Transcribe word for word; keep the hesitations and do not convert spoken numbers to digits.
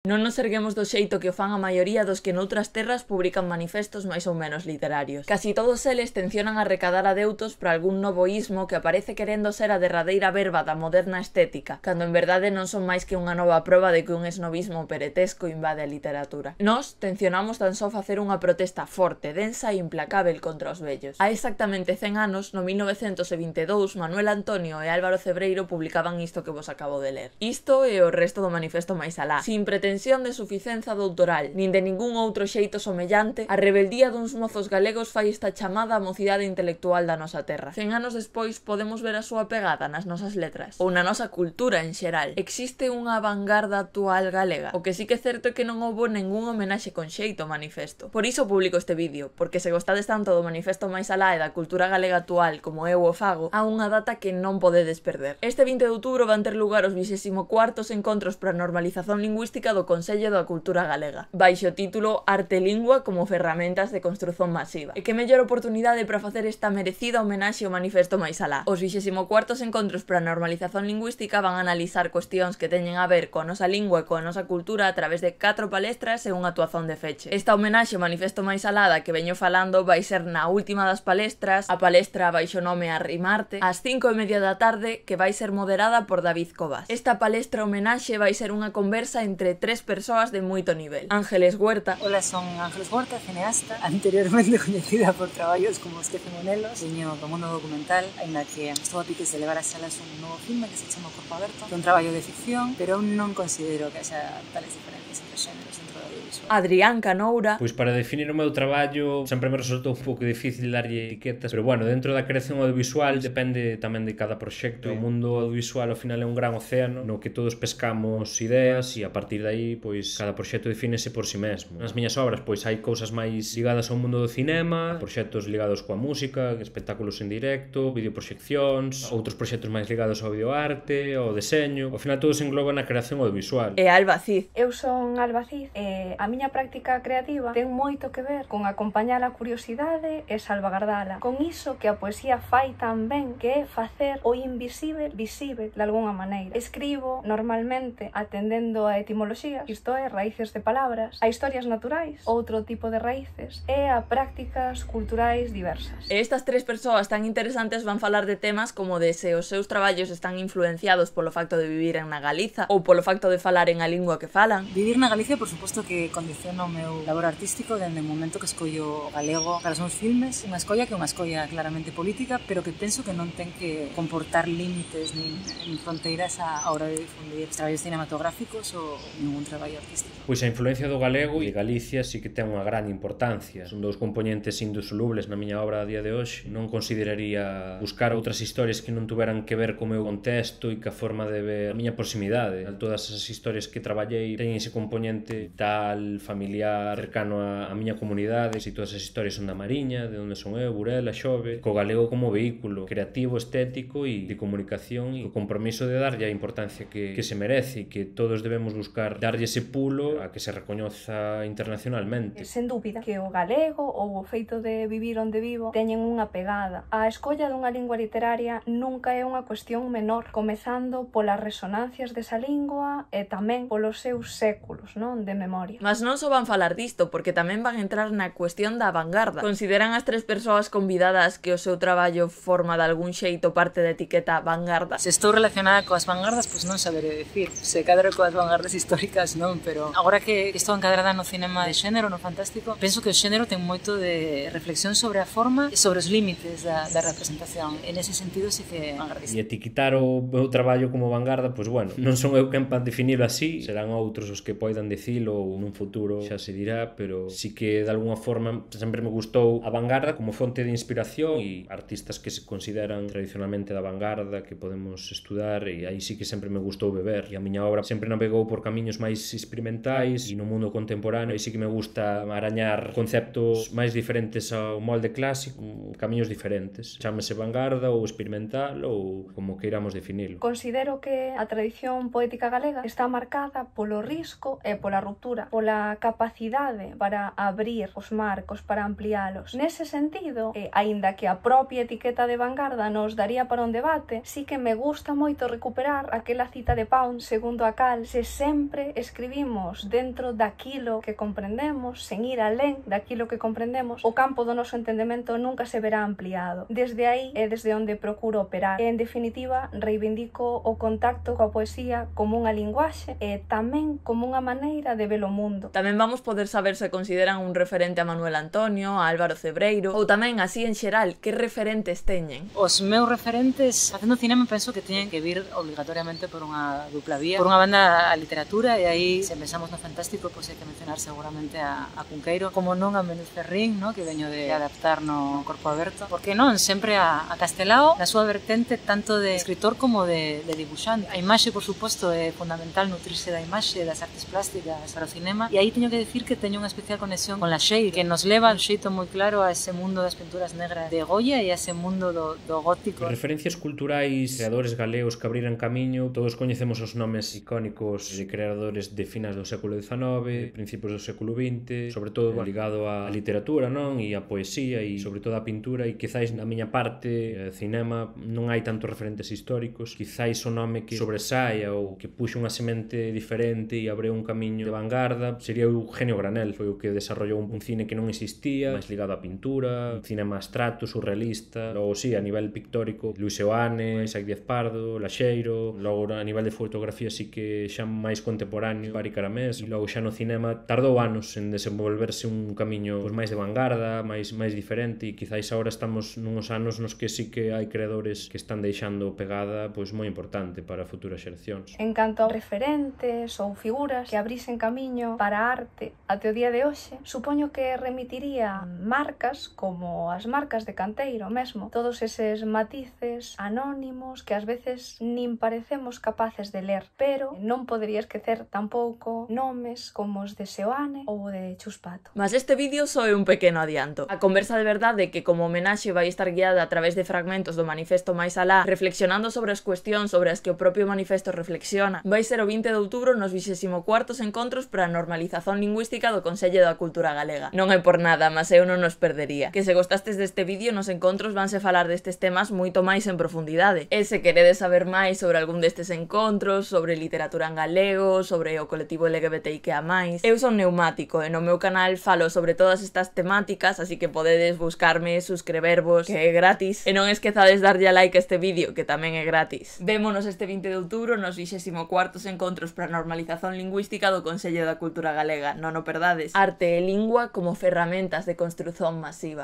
Non nos erguemos do xeito que o fan a maioría dos que noutras terras publican manifestos máis ou menos literarios. Casi todos eles tencionan a recadar adeutos para algún novo ismo que aparece querendo ser a derradeira verba da moderna estética, cando en verdade non son máis que unha nova proba de que un esnovismo peretesco invade a literatura. Nós tencionamos tan só facer unha protesta forte, densa e implacável contra os vellos. Hai exactamente cen anos, no mil novecentos e vinte e dous, Manuel Antonio e Álvaro Cebreiro publicaban isto que vos acabo de ler. Isto e o resto do manifesto máis alá, sin pretensión de suficienza doutoral, nin de ningún outro xeito somellante, a rebeldía duns mozos galegos fai esta chamada á mocidade intelectual da nosa terra. Cen anos despois podemos ver a súa pegada nas nosas letras, ou na nosa cultura en xeral. Existe unha vanguarda actual galega? O que sí que é certo é que non houbo ningún homenaxe con xeito ao manifesto. Por iso publico este vídeo, porque se gostades tanto do manifesto máis alá e da cultura galega actual como eu o fago, há unha data que non podedes perder. Este vinte de outubro van ter lugar os vixésimo cuartos encontros para a normalización lingüística do Consello da Cultura Galega, baixo o título Arte e Lingua como ferramentas de construción masiva. E que mellor oportunidade para facer esta merecida homenaxe ao manifesto máis alá. Os vixésimo cuartos encontros para a normalización lingüística van a analizar cuestións que teñen a ver coa nosa lingua e coa nosa cultura a través de catro palestras e unha actuación de feche. Esta homenaxe ao manifesto máis alá da que veño falando vai ser na última das palestras, a palestra baixo nome Arrimarte, ás cinco e media da tarde, que vai ser moderada por David Cobas. Esta palestra homenaxe vai ser unha conversa entre tres persoas de moito nivel. Ángeles Huerta. Hola, son Ángeles Huerta, cineasta, anteriormente coñecida por traballos como Os que Monelos, veño do mundo documental, aínda que estou a piques de levar a salas un novo filme que se chama Corpo Aberto, que é un traballo de ficción, pero non considero que haxa tales diferencias entre xéneros dentro do audiovisual. Adrián Canoura. Pois para definir o meu traballo sempre me resultou un pouco difícil darlle etiquetas, pero bueno, dentro da creación audiovisual depende tamén de cada proxecto. O mundo audiovisual ao final é un gran océano no que todos pescamos ideas e a partir de aí pois cada proxecto defínese por si mesmo. Nas miñas obras pois hai cousas máis ligadas ao mundo do cinema, proxectos ligados coa música, espectáculos en directo, videoproxeccións, outros proxectos máis ligados ao videoarte, ao deseño. Ao final todo se engloba na creación audiovisual. E Alba Cid. Eu son Alba Cid e a miña práctica creativa ten moito que ver con acompañar a curiosidade e salvagardala. Con iso que a poesía fai tan ben, que é facer o invisível visível de alguna maneira. Escribo normalmente atendendo a etimoloxías, isto é, raíces de palabras, a historias naturais, outro tipo de raíces, e a prácticas culturais diversas. E estas tres persoas tan interesantes van falar de temas como de se os seus traballos están influenciados polo facto de vivir en na Galiza ou polo facto de falar en a lingua que falan. Vivir na Galicia, por suposto, que condiciona o meu labor artístico dende o momento que escollo galego para os meus filmes, unha escolla que é unha escolla claramente política, pero que penso que non ten que comportar límites nin, nin fronteiras a hora de difundir traballos cinematográficos ou ningún traballo artístico. Pois a influencia do galego e Galicia sí que ten unha gran importancia. Son dous componentes indisolubles na miña obra a día de hoxe. Non consideraría buscar outras historias que non tuveran que ver co meu contexto e ca forma de ver a miña proximidade. Todas as historias que traballei teñen ese componente tal, familiar, cercano a, a miña comunidade. E todas as historias son da Mariña, de onde son eu, Burela, Xove, co galego como vehículo creativo, estético e de comunicación e o compromiso de darlle a importancia que, que se merece e que todos debemos buscar darlle ese pulo a que se recoñoza internacionalmente. Sen dúbida que o galego ou o feito de vivir onde vivo teñen unha pegada. A escolla dunha lingua literaria nunca é unha cuestión menor, comezando polas resonancias desa lingua e tamén polos seus séculos, non, de memoria. Mas non só van falar disto, porque tamén van entrar na cuestión da vanguarda. Consideran as tres persoas convidadas que o seu traballo forma de algún xeito parte da etiqueta vanguarda? Se estou relacionada coas vanguardas, pois non saberé decir. Se cadro coas vanguardas históricas non, pero agora que estou encadrada no cinema de xénero, no fantástico, penso que o xénero ten moito de reflexión sobre a forma e sobre os límites da, da representación. En ese sentido, sí que vanguardista. E etiquitar o meu traballo como vanguarda, pois bueno, non son eu quen para definirlo así, serán outros os que poidan dicilo ou nun futuro xa se dirá, pero sí que de alguna forma sempre me gustou a vanguarda como fonte de inspiración e artistas que se consideran tradicionalmente da vanguarda que podemos estudar e aí sí que sempre me gustou beber e a miña obra sempre navegou por camiños máis experimentais e no mundo contemporáneo e sí que me gusta arañar conceptos máis diferentes ao molde clásico, camiños diferentes, chámese vanguarda ou experimental ou como queiramos definilo. Considero que a tradición poética galega está marcada polo risco e pola ruptura, pola capacidade para abrir os marcos, para ampliálos. Nese sentido, eh, aínda que a propia etiqueta de vanguarda nos daría para un debate, sí que me gusta moito recuperar aquela cita de Pound segundo a cal se sempre se escribimos dentro daquilo que comprendemos, sen ir alén daquilo que comprendemos, o campo do noso entendemento nunca se verá ampliado. Desde aí é desde onde procuro operar. E, en definitiva, reivindico o contacto coa poesía como unha linguaxe e tamén como unha maneira de ver o mundo. Tamén vamos poder saber se consideran un referente a Manuel Antonio, a Álvaro Cebreiro, ou tamén, así en xeral, que referentes teñen? Os meus referentes facendo cinema penso que teñen que vir obligatoriamente por unha dupla vía, por unha banda a literatura, e aí, se pensamos no fantástico, pois hai que mencionar seguramente a, a Cunqueiro, como non a Méndez Ferrín, no? Que veño de adaptar no Corpo Aberto, porque non, sempre a, a Castelao, na súa vertente tanto de escritor como de, de dibuixante. A imaxe, por suposto, é fundamental nutrirse da imaxe, das artes plásticas para o cinema, e aí teño que dicir que teño unha especial conexión con La Sheil, que nos leva un xeito moi claro a ese mundo das pinturas negras de Goya e a ese mundo do, do gótico. As referencias culturais, creadores galegos que abriran camiño, todos coñecemos os nomes icónicos de creadores de finas do século diecinueve, principios do século vinte, sobre todo ligado á literatura, non? E á poesía e sobre todo á pintura, e quizáis na miña parte, cinema, non hai tantos referentes históricos, quizáis o nome que sobresaia ou que puxo unha semente diferente e abreu un camiño de vanguarda sería o Eugenio Granel, foi o que desarrollou un cine que non existía, máis ligado á pintura, un cinema abstracto, surrealista. Logo, sí, a nivel pictórico, Luis Seoane, Isaac Díaz Pardo, Laxeiro. Logo, a nivel de fotografía, sí que xa máis contemporáneo, Bari Caramés. E logo xa no cinema tardou anos en desenvolverse un camiño pois, máis de vanguarda, máis máis diferente, e quizáis agora estamos nuns anos nos que sí que hai creadores que están deixando pegada pois moi importante para futuras xeracións. En canto a referentes ou figuras que abrisen camiño para a arte até o día de hoxe, supoño que remitiría marcas como as marcas de Canteiro mesmo, todos eses matices anónimos que ás veces nin parecemos capaces de ler, pero non podería esquecer tampouco nomes como os de Seoane ou de Chuspato. Mas este vídeo só é un pequeno adianto. A conversa de verdade que como homenaxe vai estar guiada a través de fragmentos do manifesto Máis Alá, reflexionando sobre as cuestións sobre as que o propio manifesto reflexiona, vai ser o vinte de outubro nos vixésimo cuartos encontros para a normalización lingüística do Consello da Cultura Galega. Non é por nada, mas eu non nos perdería. Que se gostastes deste vídeo, nos encontros vanse falar destes temas moito máis en profundidade. E se queredes saber máis sobre algún destes encontros, sobre literatura en galego, sobre o colectivo L G B T I Q A máis, eu son Neumático e no meu canal falo sobre todas estas temáticas, así que podedes buscarme, suscribervos, que é gratis. E non esquezades darlle a like a este vídeo, que tamén é gratis. Vémonos este vinte de outubro nos vixésimo cuartos encontros para a normalización lingüística do Consello da Cultura Galega. Non o perdades. Arte e lingua como ferramentas de construción masiva.